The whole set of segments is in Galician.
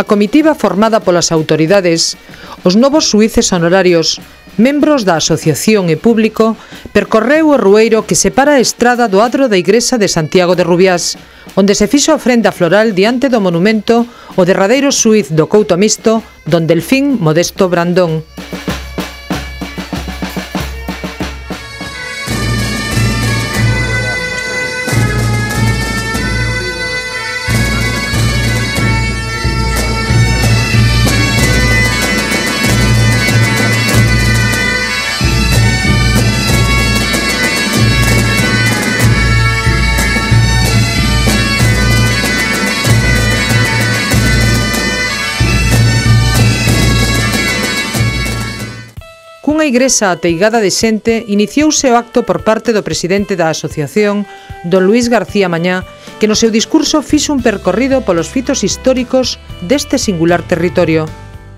comitiva formada polas autoridades, os novos xuíces honorarios, membros da asociación e público, percorreu o rueiro que separa a estrada do adro da Igrexa de Santiago de Rubiás, onde se fixo a ofrenda floral diante do monumento o derradeiro xuíz do Couto Misto, don Delfín Modesto Brandón. Cunha igrexa ateigada de xente, iniciouse o acto por parte do presidente da asociación, don Luís García Mañá, que no seu discurso fixo un percorrido polos fitos históricos deste singular territorio.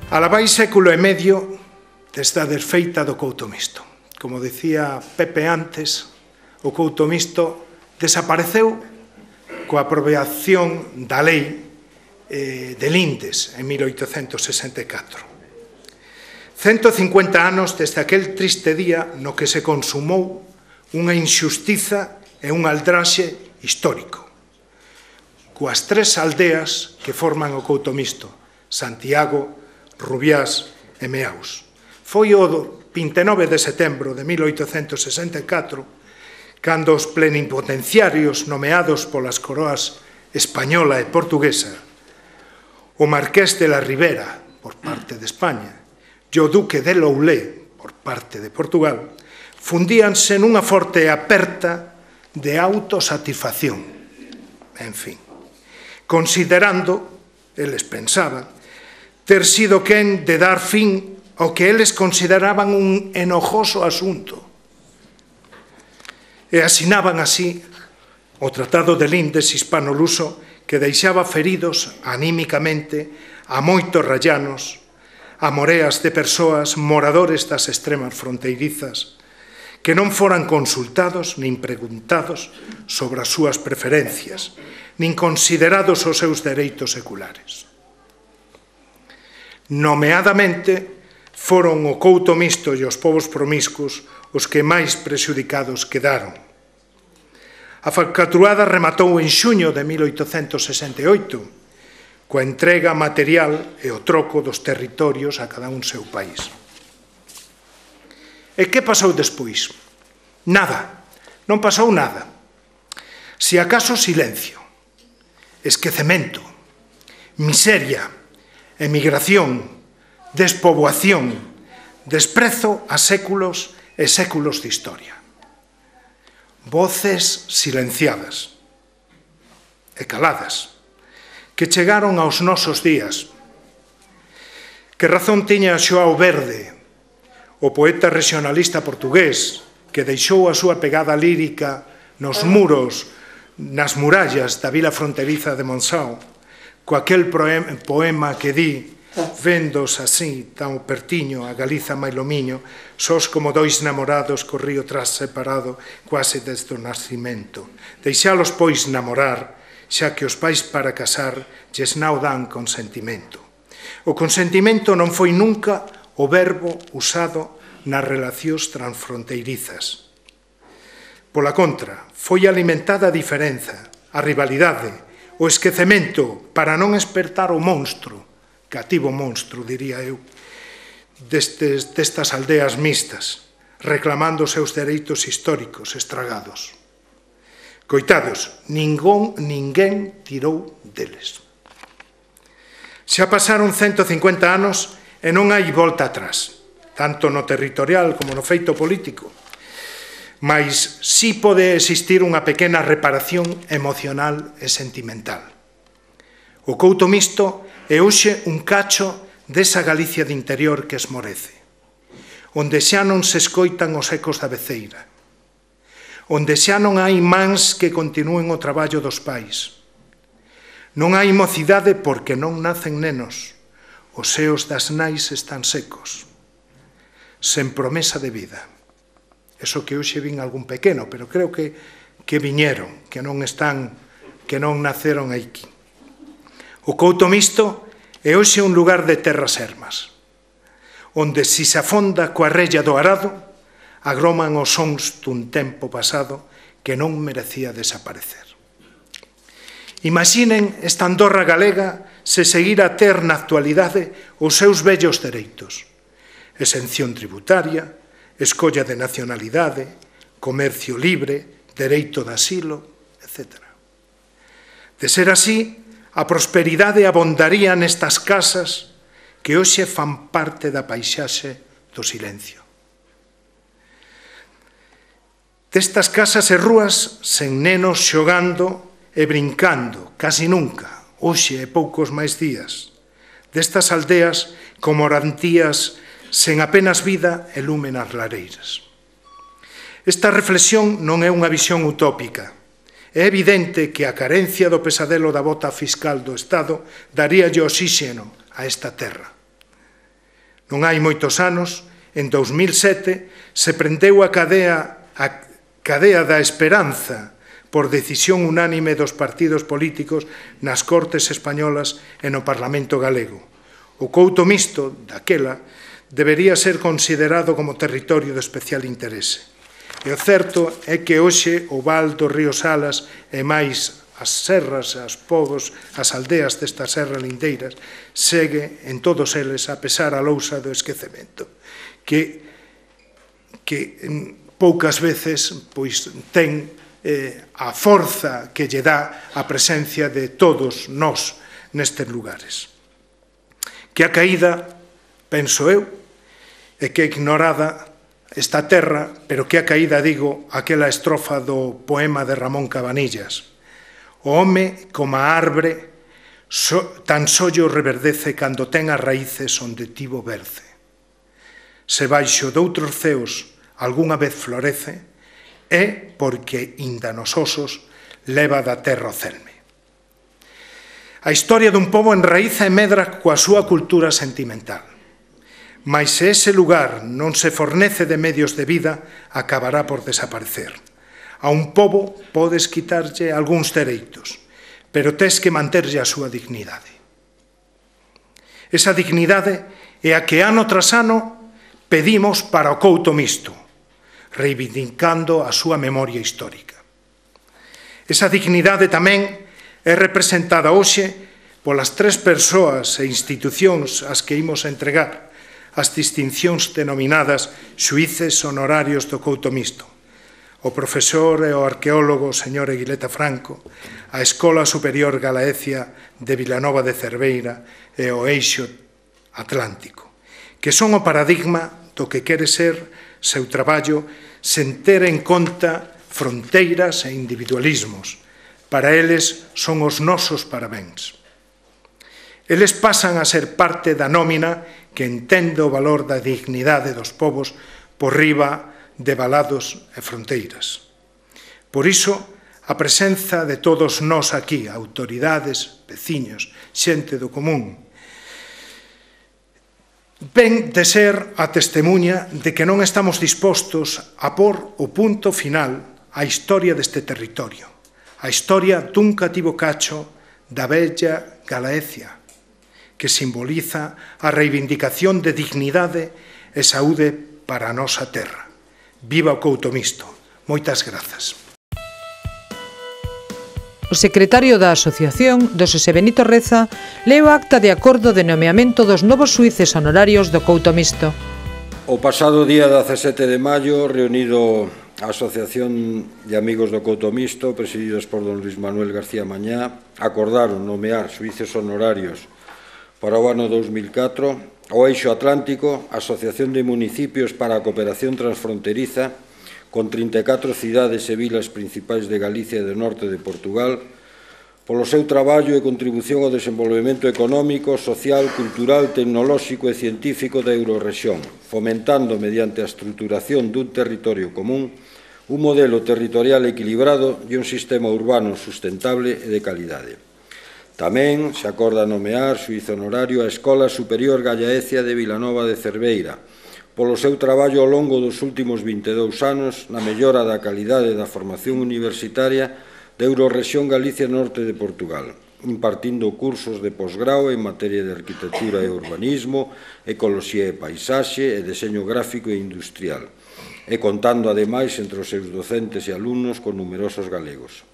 Alabáis século e medio desde a desfeita do Couto Misto. Como decía Pepe antes, o Couto Misto desapareceu coa aprobación da lei de Lindes en 1864. 150 anos desde aquel triste día no que se consumou unha inxustiza e un aldraxe histórico. Coas tres aldeas que forman o Couto Misto, Santiago, Rubiás e Meaus. Foi o 29 de setembro de 1864 cando os plenipotenciarios nomeados polas coroas española e portuguesa, o Marqués de la Ribera, por parte de España, e o Duque de Loulé, por parte de Portugal, fundíanse nunha forte aperta de autosatisfacción. En fin, considerando, eles pensaban, ter sido quen de dar fin ao que eles consideraban un enojoso asunto. E asinaban así o Tratado de Lindes hispano-luso que deixaba feridos anímicamente a moitos rallanos, a moreas de persoas moradores das extremas fronteirizas que non foran consultados nin preguntados sobre as súas preferencias, nin considerados os seus dereitos seculares. Nomeadamente, foron o Couto Misto e os povos promiscuos os que máis prexudicados quedaron. A falcatruada rematou en xuño de 1868, coa entrega material e o troco dos territorios a cada un seu país. E que pasou despois? Nada, non pasou nada. Si acaso silencio, esquecemento, miseria, emigración, despoboación, desprezo a séculos e séculos de historia. Voces silenciadas e caladas, que chegaron aos nosos días. Que razón tiña Xoao Verde, o poeta regionalista portugués, que deixou a súa pegada lírica nos muros, nas murallas da vila fronteriza de Monção, co aquel poema que di, vendos así tan pertiño a Galiza mailomiño, sós como dois namorados co río tras separado, quase desde o nascimento. Deixalos, pois, namorar, xa que os pais para casar lles non dan consentimento. O consentimento non foi nunca o verbo usado nas relacións transfronteirizas. Pola contra, foi alimentada a diferenza, a rivalidade, o esquecemento para non espertar o monstro, cativo monstro, diría eu, destas aldeas mixtas, reclamando os seus dereitos históricos estragados. Coitados, ninguén tirou deles. Xa pasaron 150 anos e non hai volta atrás, tanto no territorial como no feito político, mas si pode existir unha pequena reparación emocional e sentimental. O Couto Misto é hoxe un cacho desa Galicia de interior que esmorece, onde xa non se escoitan os ecos da beceira, onde xa non hai mans que continúen o traballo dos pais. Non hai mocidade porque non nacen nenos, os seos das nais están secos, sen promesa de vida. Eso que hoxe vin algún pequeno, pero creo que viñeron, que non naceron aquí. O Couto Misto é hoxe un lugar de terras ermas, onde se afonda coa rella do arado, agroman os sons dun tempo pasado que non merecía desaparecer. Imaginen esta Andorra galega se seguir a ter na actualidade os seus vellos dereitos: exención tributaria, escolla de nacionalidade, comercio libre, dereito de asilo, etc. De ser así, a prosperidade abondaría nestas casas que hoxe fan parte da paisaxe do silencio. Destas casas e rúas sen nenos xogando e brincando, casi nunca, hoxe e poucos máis días. Destas aldeas como orantías sen apenas vida e lume nas lareiras. Esta reflexión non é unha visión utópica. É evidente que a carencia do pesadelo da bota fiscal do Estado daríalle oxíxeno a esta terra. Non hai moitos anos, en 2007, se prendeu a cadea da esperanza por decisión unánime dos partidos políticos nas Cortes españolas e no Parlamento galego. O Couto Misto, daquela, debería ser considerado como territorio de especial interese. E o certo é que hoxe o val do río Salas e máis as serras, as pobos, as aldeas destas serras lindeiras segue en todos eles a pesar a lousa do esquecemento que poucas veces pois ten a forza que lle dá a presencia de todos nós nestes lugares. Que a caída, penso eu, é que ignorada esta terra, pero que a caída, digo, aquela estrofa do poema de Ramón Cabanillas: o home, como a arbre, tan sollo reverdece cando ten as raíces onde tivo berce. Se baixo doutros ceos algunha vez florece, é porque inda nos osos leva da terra o celme. A historia dun pobo enraíza e medra coa súa cultura sentimental. Mais se ese lugar non se fornece de medios de vida, acabará por desaparecer. A un pobo podes quitarlle algúns dereitos, pero tes que manterlle a súa dignidade. Esa dignidade é a que ano tras ano pedimos para o Couto Misto, reivindicando a súa memoria histórica. Esa dignidade tamén é representada hoxe polas 3 persoas e institucións ás que imos entregar as distincións denominadas xuíces honorarios do Couto Misto: o profesor e o arqueólogo señor Eguileta Franco, a Escola Superior Galaecia de Vilanova de Cerveira e o Eixo Atlántico, que son o paradigma do que quere ser seu traballo sen ter en conta fronteiras e individualismos. Para eles son os nosos parabéns. Eles pasan a ser parte da nómina que entende o valor da dignidade dos povos por riba de valados e fronteiras. Por iso, a presenza de todos nós aquí, autoridades, veciños, xente do común, ven de ser a testemunha de que non estamos dispostos a pôr o punto final á historia deste territorio, a historia dun cativo cacho da bella Galaecia, que simboliza a reivindicación de dignidade e saúde para a nosa terra. Viva o Couto Misto. Moitas grazas. O secretario da Asociación, do Xosé Benito Reza, leu o acta de acordo de nomeamento dos novos xuíces honorarios do Couto Misto. O pasado día 17 de maio, reunido a Asociación de Amigos do Couto Misto, presididos por don Luis Manuel García Mañá, acordaron nomear xuíces honorarios para o ano 2004 o Eixo Atlántico, Asociación de Municipios para a Cooperación Transfronteriza, con 34 cidades e vilas principais de Galicia e do norte de Portugal, polo seu traballo e contribución ao desenvolvemento económico, social, cultural, tecnolóxico e científico da Eurorrexión, fomentando mediante a estruturación dun territorio común un modelo territorial equilibrado e un sistema urbano sustentable e de calidade. Tamén se acorda nomear xuíz honorario a Escola Superior Galaecia de Vilanova de Cerveira, polo seu traballo ao longo dos últimos 22 anos na mellora da calidade da formación universitaria da Eurorrexión Galicia Norte de Portugal, impartindo cursos de posgrao en materia de arquitectura e urbanismo, ecoloxía e paisaxe e deseño gráfico e industrial, e contando, ademais, entre os seus docentes e alumnos con numerosos galegos.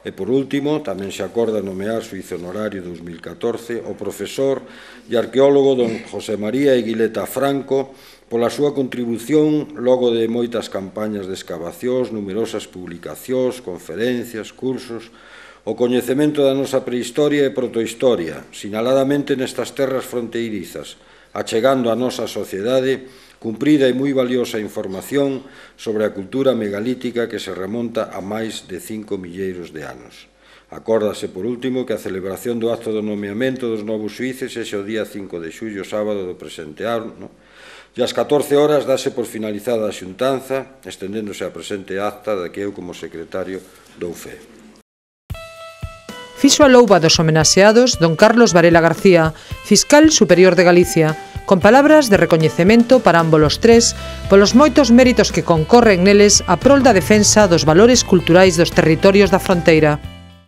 E, por último, tamén se acorda nomear suízo honorario 2014 o profesor e arqueólogo don José María Eguileta Franco pola súa contribución logo de moitas campañas de escavacións, numerosas publicacións, conferencias, cursos, o coñecemento da nosa prehistoria e protohistoria, sinaladamente nestas terras fronteirizas, achegando á nosa sociedade cumprida e moi valiosa información sobre a cultura megalítica que se remonta a máis de 5 milleiros de anos. Acórdase, por último, que a celebración do acto do nomeamento dos novos xuíces é o día 5 de xullo, sábado do presente ano, e ás 14 horas dase por finalizada a xuntanza, estendéndose a presente acta da que eu, como secretario, dou fe. Fixo a louba dos homenaxeados don Carlos Varela García, fiscal superior de Galicia, con palabras de recoñecemento para ambos os tres polos moitos méritos que concorren neles a prol da defensa dos valores culturais dos territorios da fronteira.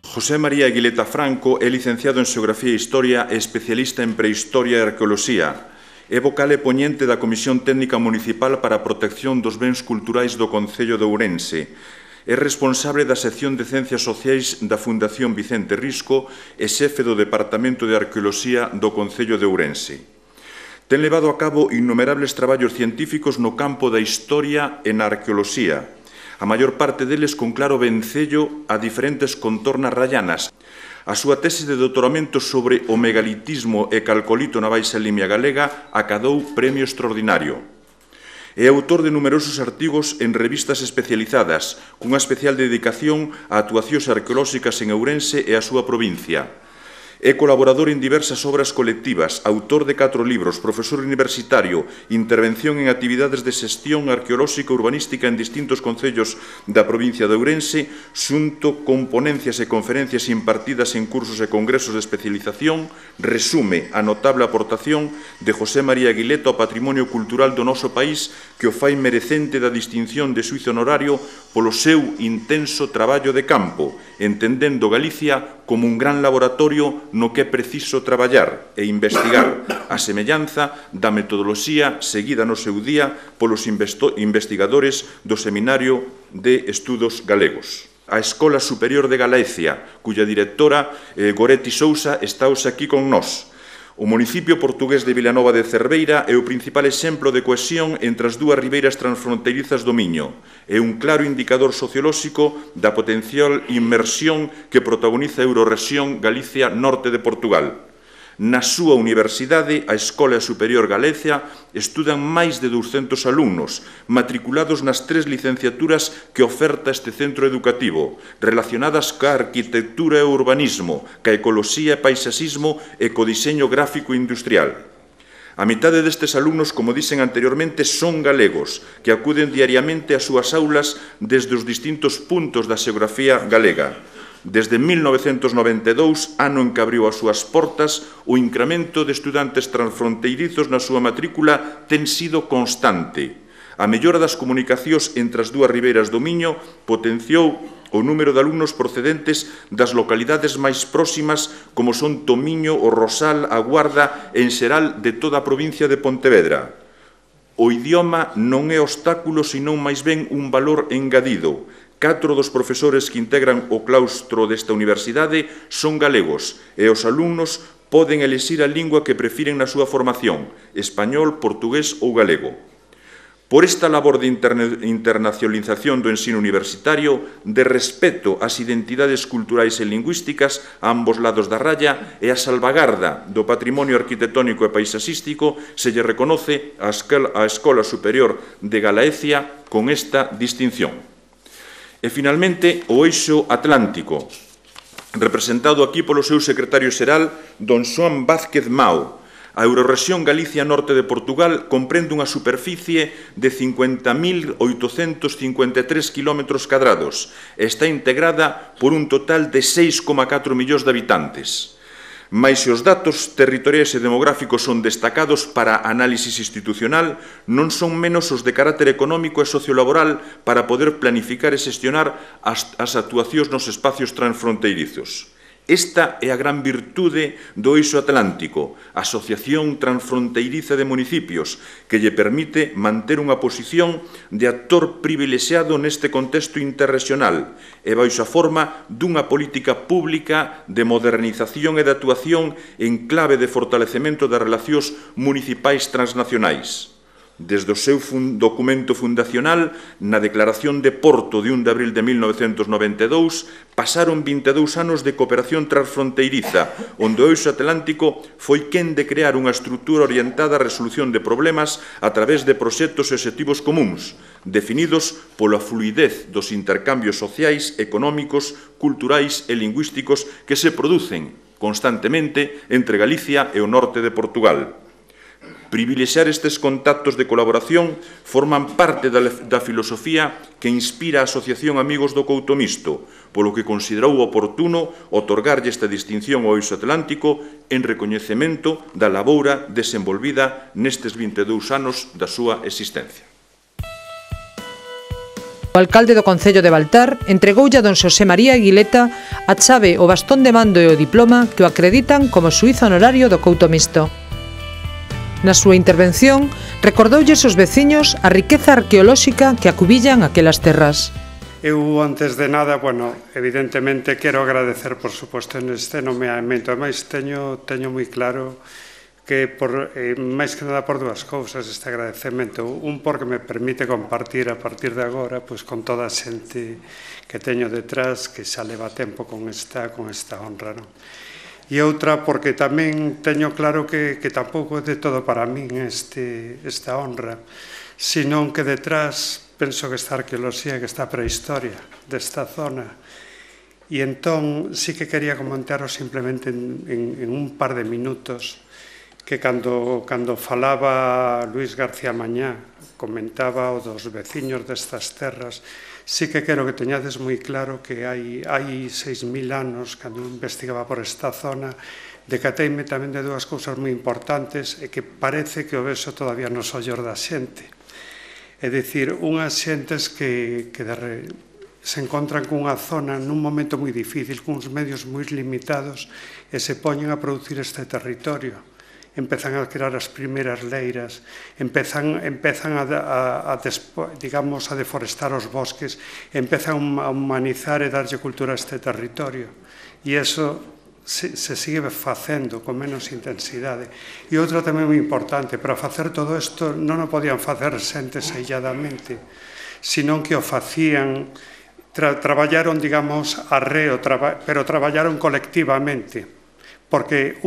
José María Eguileta Franco é licenciado en Xeografía e Historia e especialista en Prehistoria e Arqueoloxía. É vocal e poñente da Comisión Técnica Municipal para a Protección dos Bens Culturais do Concello de Ourense. É responsable da sección de Ciencias Sociais da Fundación Vicente Risco e xefe do Departamento de Arqueoloxía do Concello de Ourense. Ten levado a cabo innumerables traballos científicos no campo da historia e na arqueoloxía, a maior parte deles con claro vencello a diferentes contornas rallanas. A súa tese de doutoramento sobre o megalitismo e calcolito na Baixa Limia galega acadou premio extraordinario. É autor de numerosos artigos en revistas especializadas, cunha especial dedicación a actuacións arqueolóxicas en Ourense e a súa provincia. É colaborador en diversas obras colectivas, autor de 4 libros, profesor universitario, intervención en actividades de xestión arqueolóxica e urbanística en distintos concellos da provincia de Ourense, xunto con ponencias e conferencias impartidas en cursos e congresos de especialización, resume a notable aportación de José María Eguileta ao patrimonio cultural do noso país que o fai merecente da distinción de suízo honorario polo seu intenso traballo de campo, entendendo Galicia como un gran laboratorio no que é preciso traballar e investigar a semellanza da metodoloxía seguida no seu día polos investigadores do Seminario de Estudos Galegos. A Escola Superior de Galicia, cuya directora Goretti Sousa está hoxe aquí con nós. O municipio portugués de Vilanova de Cerveira é o principal exemplo de cohesión entre as dúas ribeiras transfronteirizas do Miño. É un claro indicador sociolóxico da potencial inmersión que protagoniza a Eurorrexión Galicia Norte de Portugal. Na súa universidade, a Escola Superior Galicia, estudan máis de 200 alumnos, matriculados nas 3 licenciaturas que oferta este centro educativo, relacionadas ca arquitectura e urbanismo, ca ecoloxía e paisaxismo e co diseño gráfico industrial. A mitade destes alumnos, como dixen anteriormente, son galegos, que acuden diariamente ás súas aulas desde os distintos puntos da xeografía galega. Desde 1992, ano en que abriu as súas portas, o incremento de estudantes transfronteirizos na súa matrícula ten sido constante. A mellora das comunicacións entre as dúas ribeiras do Miño potenciou o número de alumnos procedentes das localidades máis próximas como son Tomiño, o Rosal, a Guarda e en xeral de toda a provincia de Pontevedra. O idioma non é obstáculo, senón máis ben un valor engadido. 4 dos profesores que integran o claustro desta universidade son galegos e os alumnos poden elixir a lingua que prefiren na súa formación, español, portugués ou galego. Por esta labor de internacionalización do ensino universitario, de respeto ás identidades culturais e lingüísticas a ambos lados da raya e a salvagarda do patrimonio arquitectónico e paisaxístico, se lle reconoce a Escola Superior de Galicia con esta distinción. E, finalmente, o eixo atlántico, representado aquí polo seu secretario xeral, don Xoán Vázquez Mao. A Eurorrexión Galicia Norte de Portugal comprende unha superficie de 50.853 km cadrados e está integrada por un total de 6,4 millóns de habitantes. Mais se os datos territoriais e demográficos son destacados para análisis institucional, non son menos os de carácter económico e sociolaboral para poder planificar e xestionar as actuacións nos espacios transfronteirizos. Esta é a gran virtude do Eixo Atlántico, a Asociación Transfronteiriza de Municipios, que lle permite manter unha posición de actor privilexiado neste contexto interregional e baixo a forma dunha política pública de modernización e de actuación en clave de fortalecemento das relacións municipais transnacionais. Desde o seu documento fundacional, na Declaración de Porto de 1 de abril de 1992, pasaron 22 anos de cooperación transfronteiriza, onde o Eixo Atlántico foi quen de crear unha estrutura orientada á resolución de problemas a través de proxectos e obxectivos comuns, definidos pola fluidez dos intercambios sociais, económicos, culturais e lingüísticos que se producen constantemente entre Galicia e o norte de Portugal. Privilexiar estes contactos de colaboración forman parte da filosofía que inspira a Asociación Amigos do Couto Misto, polo que considerou oportuno otorgarlle esta distinción ao Eixo Atlántico en recoñecemento da laboura desenvolvida nestes 22 anos da súa existencia. O alcalde do Concello de Baltar entregoulle a don Xosé María Aguileta a chave, o bastón de mando e o diploma que o acreditan como xuíz honorario do Couto Misto. Na súa intervención, recordoulles aos veciños a riqueza arqueolóxica que acubillan aquelas terras. Eu, antes de nada, evidentemente, quero agradecer, por suposto, neste nomeamento. Ademais, teño moi claro que, máis que nada, por dúas cousas este agradecemento. Un, porque me permite compartir a partir de agora con toda a xente que teño detrás, que xa leva tempo con esta honra, non? E outra, porque tamén teño claro que tampouco é de todo para min esta honra, senón que detrás penso que está a arqueoloxía, que está a prehistoria desta zona. E entón sí que quería comentaros simplemente en un par de minutos que cando falaba Luis García Mañá, comentaba o dos veciños destas terras, sí que quero que teñades moi claro que hai 6.000 anos, cando investigaba por esta zona, decateime tamén de dúas cousas moi importantes e que parece que o vexo todavía nos ollos da xente. É dicir, unhas xentes que se encontran cunha zona nun momento moi difícil, cuns medios moi limitados, e se poñen a producir este territorio. Empezan a crear as primeiras leiras, empezan a deforestar os bosques, empezan a humanizar e darlle cultura a este territorio. E iso se sigue facendo con menos intensidade. E outra tamén moi importante, para facer todo isto non o podían facer xentes ailladamente, senón que o facían, traballaron, arreo, pero traballaron colectivamente, porque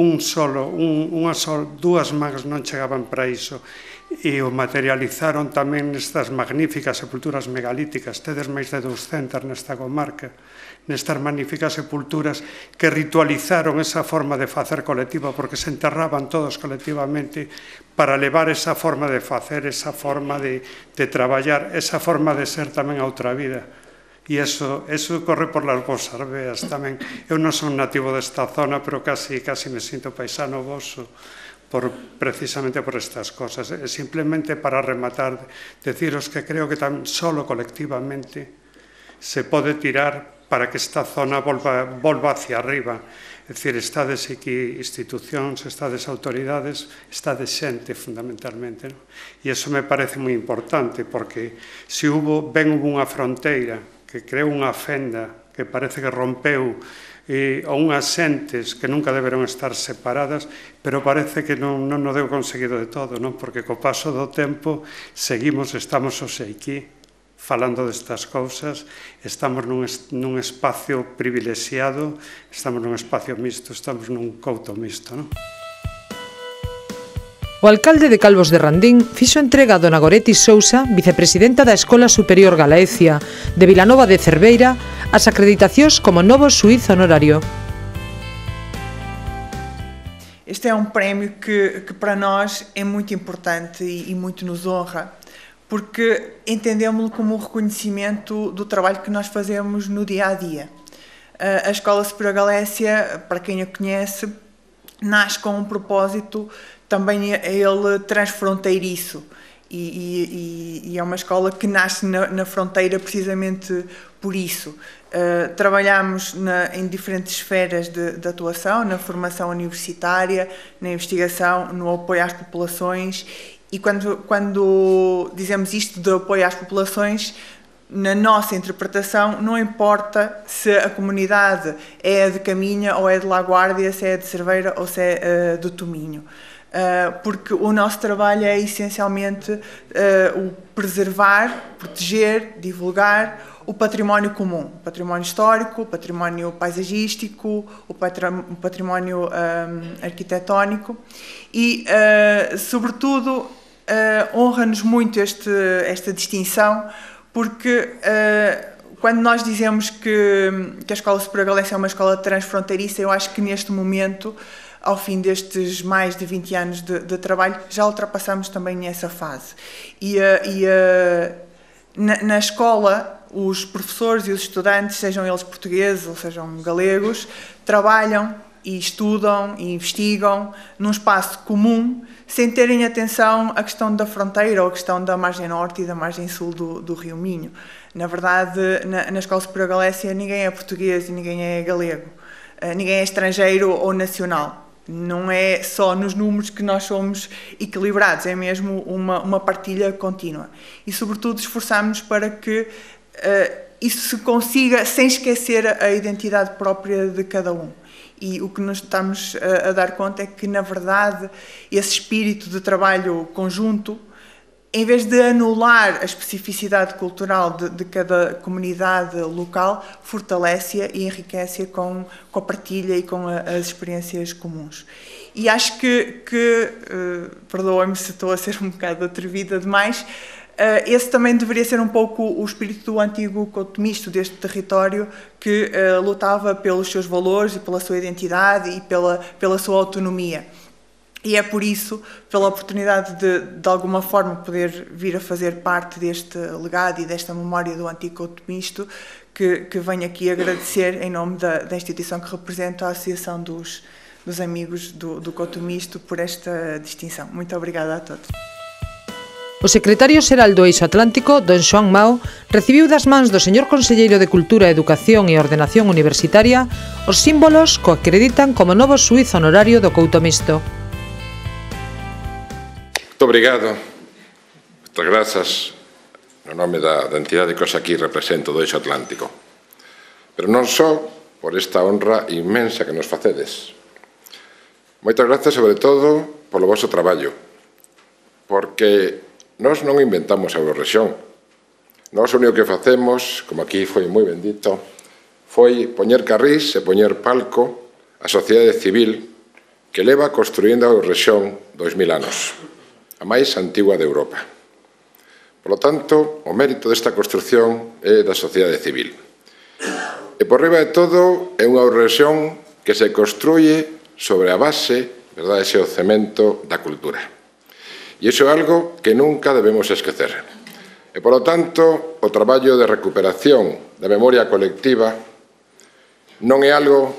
dúas mans non chegaban para iso, e o materializaron tamén nestas magníficas sepulturas megalíticas. Tedes máis de 200 nesta comarca, nestas magníficas sepulturas que ritualizaron esa forma de facer colectiva, porque se enterraban todos colectivamente para levar esa forma de facer, esa forma de traballar, esa forma de ser tamén a outra vida. E iso corre por las vosas veas tamén. Eu non son nativo desta zona, pero casi me sinto paisano voso, precisamente por estas cosas. Simplemente para rematar, deciros que creo que tan solo colectivamente se pode tirar para que esta zona volva hacia arriba. É dicir, estades aquí institucións, estades autoridades, estades xente, fundamentalmente. E iso me parece moi importante, porque se hubo unha fronteira que creou unha fenda que parece que rompeu ou unhas xentes que nunca deberon estar separadas, pero parece que non o deu conseguido de todo, non? Porque co paso do tempo estamos aquí falando destas cousas, estamos nun espacio privilexiado, estamos nun espacio mixto, estamos nun couto mixto, non? O alcalde de Calvos de Randín fixo entrega a dona Goretti Sousa, vicepresidenta da Escola Superior Galaecia de Vilanova de Cerveira, as acreditacións como novo xuíz honorario. Este é un prémio que para nós é muito importante e muito nos honra, porque entendemos-lo como um reconhecimento do trabalho que nós fazemos no dia a dia. A Escola Superior Galaecia, para quem a conhece, nasce com um propósito também ele transfronteiriço, e é uma escola que nasce na fronteira precisamente por isso. Trabalhamos em diferentes esferas de atuação, na formação universitária, na investigação, no apoio às populações, e quando dizemos isto de apoio às populações, na nossa interpretação, não importa se a comunidade é de Caminha ou é de Laguardia, se é de Cerveira ou se é do Tominho. Porque o nosso trabalho é essencialmente o preservar, proteger, divulgar o património comum, o património histórico, o património paisagístico, o património arquitetónico e, sobretudo, honra-nos muito esta distinção, porque quando nós dizemos que a Escola Superior Galense é uma escola transfronteiriça, eu acho que neste momento, ao fim destes mais de 20 anos de trabalho, já ultrapassamos também essa fase. Na escola, os professores e os estudantes, sejam eles portugueses ou sejam galegos, trabalham e estudam e investigam num espaço comum, sem terem atenção à questão da fronteira ou à questão da margem norte e da margem sul do Rio Minho. Na verdade, na Escola Superior Galécia, ninguém é português e ninguém é galego. Ninguém é estrangeiro ou nacional. Não é só nos números que nós somos equilibrados, é mesmo uma partilha contínua. E, sobretudo, esforçamos para que isso se consiga sem esquecer a identidade própria de cada um. E o que nos estamos a dar conta é que, na verdade, esse espírito de trabalho conjunto, em vez de anular a especificidade cultural de cada comunidade local, fortalece-a e enriquece-a com a partilha e com as experiências comuns. E acho que perdoem-me se estou a ser um bocado atrevida demais, esse também deveria ser um pouco o espírito do antigo Couto Misto, deste território que lutava pelos seus valores e pela sua identidade e pela sua autonomia. E é por isso, pela oportunidade de alguma forma poder vir a fazer parte deste legado e desta memória do antigo Couto Misto, que venho aqui agradecer em nome da instituição que represento, a Associação dos Amigos do Couto Misto, por esta distinção. Muito obrigada a todos. O secretario xeral do Eixo Atlántico, don Xoán Mao, recibiu das mans do señor Conselleiro de Cultura, Educación e Ordenación Universitaria os símbolos que o acreditan como novo xuíz honorario do Couto Misto. Muito obrigado. Moitas grazas no nome da entidade que os aquí represento do Eixo Atlántico. Pero non só por esta honra inmensa que nos facedes. Moitas grazas, sobre todo, polo vosso traballo, porque nós non inventamos a Eurorrexión. Nós o único que facemos, como aquí foi moi ben dito, foi poñer carrís e poñer palco a sociedade civil que leva construindo a Eurorrexión 2000 anos, a máis antigua de Europa. Por lo tanto, o mérito desta construcción é da sociedade civil. E por riba de todo, é unha Eurorrexión que se construye sobre a base, verdade, ese o cemento da cultura. E iso é algo que nunca debemos esquecer. E, polo tanto, o traballo de recuperación da memoria colectiva non é algo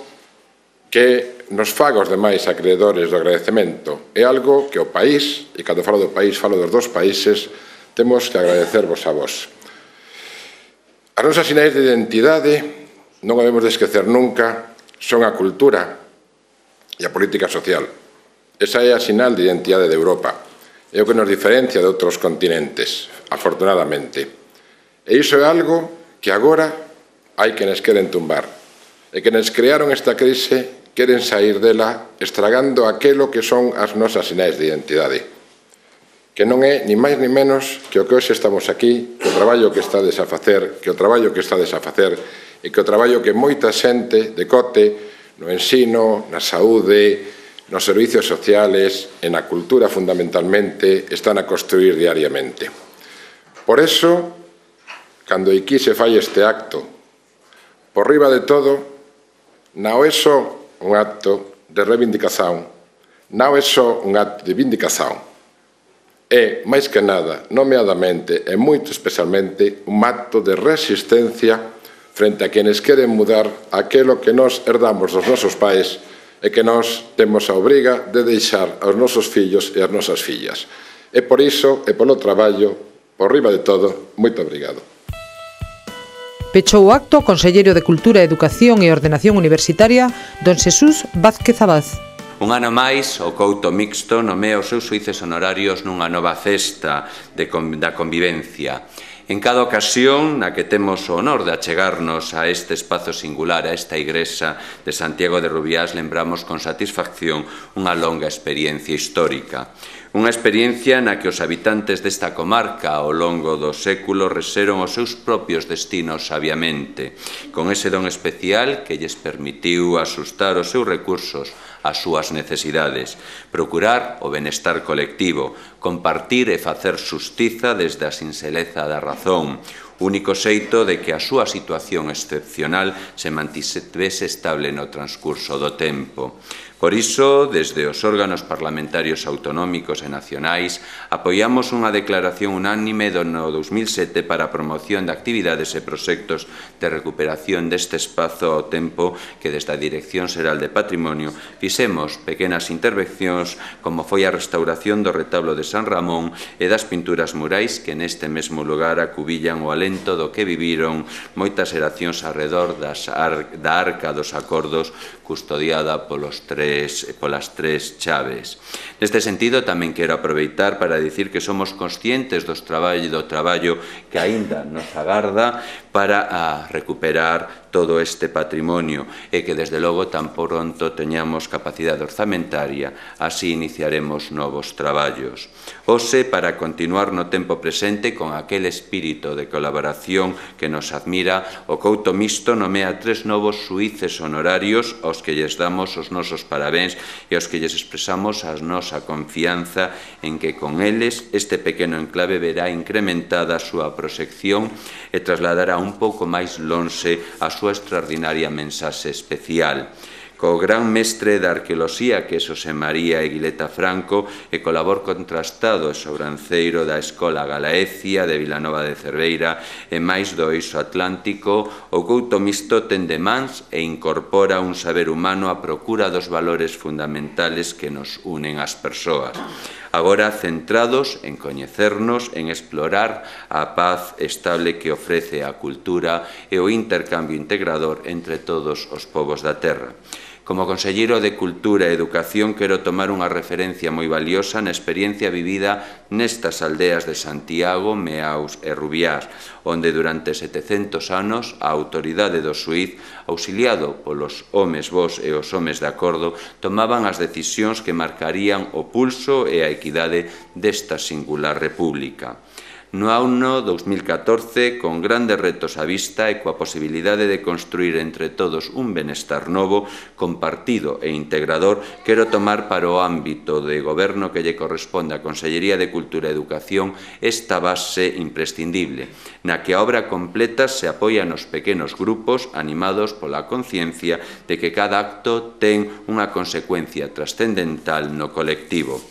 que nos faga os demais acreedores do agradecemento. É algo que o país, e cando falo do país, falo dos dos países, temos que agradecervos a vos. As nosas sinais de identidade, non debemos de esquecer nunca, son a cultura e a política social. Esa é a sinal de identidade de Europa. É o que nos diferencia de outros continentes, afortunadamente. E iso é algo que agora hai quenes queren tumbar. E quenes crearon esta crise queren sair dela estragando aquelo que son as nosas sinais de identidade. Que non é ni máis ni menos que o que hoxe estamos aquí, que o traballo que estades a facer, que o traballo que estades a facer e que o traballo que moita xente de Cote, no ensino, na saúde, nos servicios sociales e na cultura fundamentalmente están a construir diariamente. Por eso, cando aquí se fai este acto, por riba de todo, non é só un acto de reivindicación, non é só un acto de vindicación, é, máis que nada, nomeadamente e moito especialmente, un acto de resistencia frente a quenes queren mudar aquilo que nos herdamos dos nosos pais e que nós temos a obriga de deixar aos nosos fillos e as nosas fillas. E por iso, e polo traballo, por riba de todo, moito obrigado. Pechou o acto o conselleiro de Cultura, Educación e Ordenación Universitaria, don Xesús Vázquez Abad. Un ano máis, o Couto Mixto nomea os seus xuíces honorarios nunha nova festa da convivencia. En cada ocasión na que temos o honor de achegarnos a este espazo singular, a esta igrexa de Santiago de Rubiás, lembramos con satisfacción unha longa experiencia histórica. Unha experiencia na que os habitantes desta comarca ao longo do século rexeron os seus propios destinos sabiamente, con ese don especial que lles permitiu asustar os seus recursos ás súas necesidades, procurar o benestar colectivo, compartir e facer xustiza desde a sinxeleza da razón, único xeito de que a súa situación excepcional se mantivese estable no transcurso do tempo. Por iso, desde os órganos parlamentarios autonómicos e nacionais, apoiamos unha declaración unánime do 2007 para a promoción de actividades e proxectos de recuperación deste espazo ao tempo que desde a Dirección Xeral de Patrimonio fixemos pequenas intervencións como foi a restauración do retablo de San Ramón e das pinturas murais que neste mesmo lugar acubillan o alento do que viviron moitas xeracións arredor da Arca dos Acordos custodiada polas tres chaves. Neste sentido, tamén quero aproveitar para dicir que somos conscientes do traballo que aínda nos agarda para recuperar todo este patrimonio e que, desde logo, tan pronto teñamos capacidade orzamentaria, así iniciaremos novos traballos. Hoxe, para continuar no tempo presente con aquel espírito de colaboración que nos admira, o Couto Mixto nomea 3 novos xuíces honorarios aos que lles damos os nosos parabéns e aos que lles expresamos a nosa confianza en que con eles este pequeno enclave verá incrementada a súa proxección e trasladará un pouco máis lonxe a súa extraordinaria mensaxe especial. Co gran mestre da arqueoloxía que é Xosé María Eguileta Franco e co labor contrastado e sobranceiro da Escola Galaecia de Vilanova de Cerveira e máis do Eixo Atlántico, o Couto Mixto ten de mans e incorpora un saber humano á procura dos valores fundamentales que nos unen ás persoas. Agora centrados en coñecernos, en explorar a paz estable que ofrece a cultura e o intercambio integrador entre todos os povos da terra. Como conselleiro de Cultura e Educación quero tomar unha referencia moi valiosa na experiencia vivida nestas aldeas de Santiago, Meaus e Rubiás, onde durante 700 anos a autoridade do xuíz, auxiliado polos homes bos e os homes de acordo, tomaban as decisións que marcarían o pulso e a equidade desta singular república. No ano 2014, con grandes retos á vista e coa posibilidade de construir entre todos un benestar novo, compartido e integrador, quero tomar para o ámbito de goberno que lle corresponde á Consellería de Cultura e Educación esta base imprescindible, na que a obra completa se apoia nos pequenos grupos animados pola conciencia de que cada acto ten unha consecuencia trascendental no colectivo.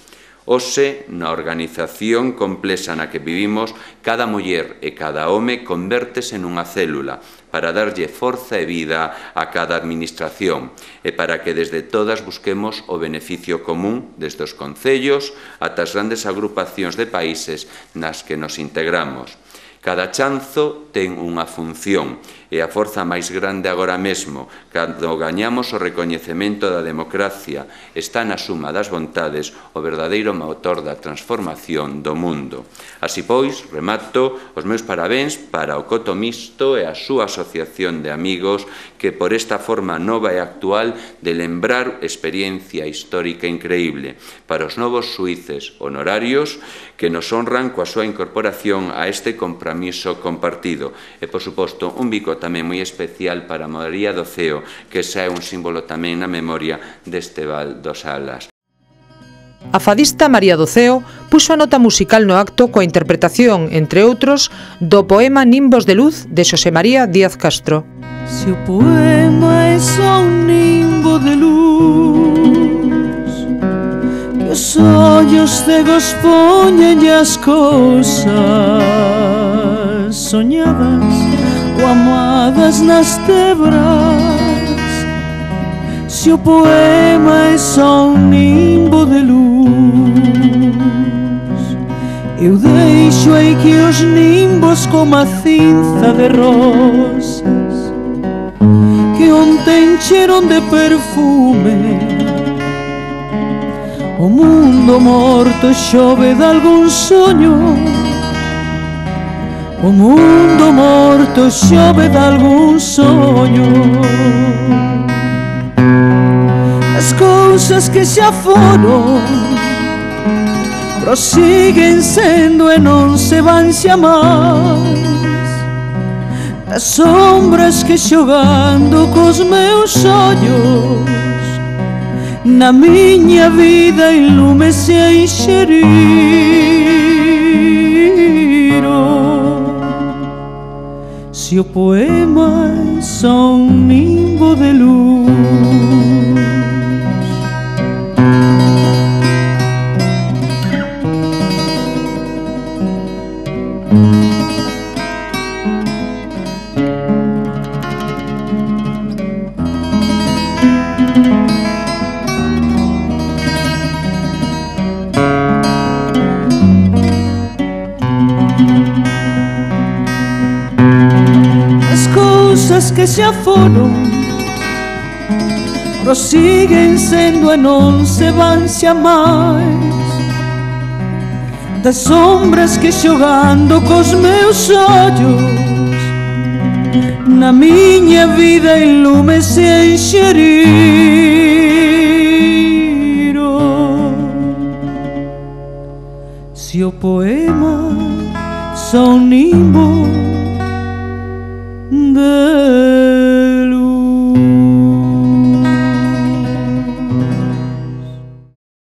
Hoxe, na organización complexa na que vivimos, cada muller e cada home convértese nunha célula para darlle forza e vida a cada administración e para que desde todas busquemos o beneficio común desde os concellos ata as grandes agrupacións de países nas que nos integramos. Cada chanzo ten unha función e a forza máis grande agora mesmo, cando gañamos o recoñecemento da democracia, está na suma das vontades o verdadeiro motor da transformación do mundo. Así pois, remato os meus parabéns para o Couto Mixto e a súa asociación de amigos que por esta forma nova e actual de lembrar experiencia histórica increíble, para os novos xuíces honorarios que nos honran coa súa incorporación a este compromiso compartido e, por suposto, un bico tamén moi especial para María do Ceo, que xa é un símbolo tamén na memoria deste Val dos Alas. A fadista María do Ceo puxo a nota musical no acto coa interpretación, entre outros, do poema Nimbos de Luz de Xosé María Díaz Castro. Se o poema é só un nimbo de luz que os ollos cegos poñen as cousas soñadas ou amadas nas tebras, se o poema é só un nimbo de luz Eu deixo aí que os nimbos como a cinza de rosas que ontem cheiron de perfume. O mundo morto chove de algún soño, o mundo morto chove de algún soño. As cousas que xa foron prosiguen sendo e non se van xa máis. As sombras que xogando cos meus ollos na miña vida en lume se enxeriron. Se o poema é só un nimbo de luz, que xa foron prosiguen sendo e non se van xa máis. Das sombras que xogando cos meus ollos na miña vida en lume se enxeriron. Se o poema son nimbo de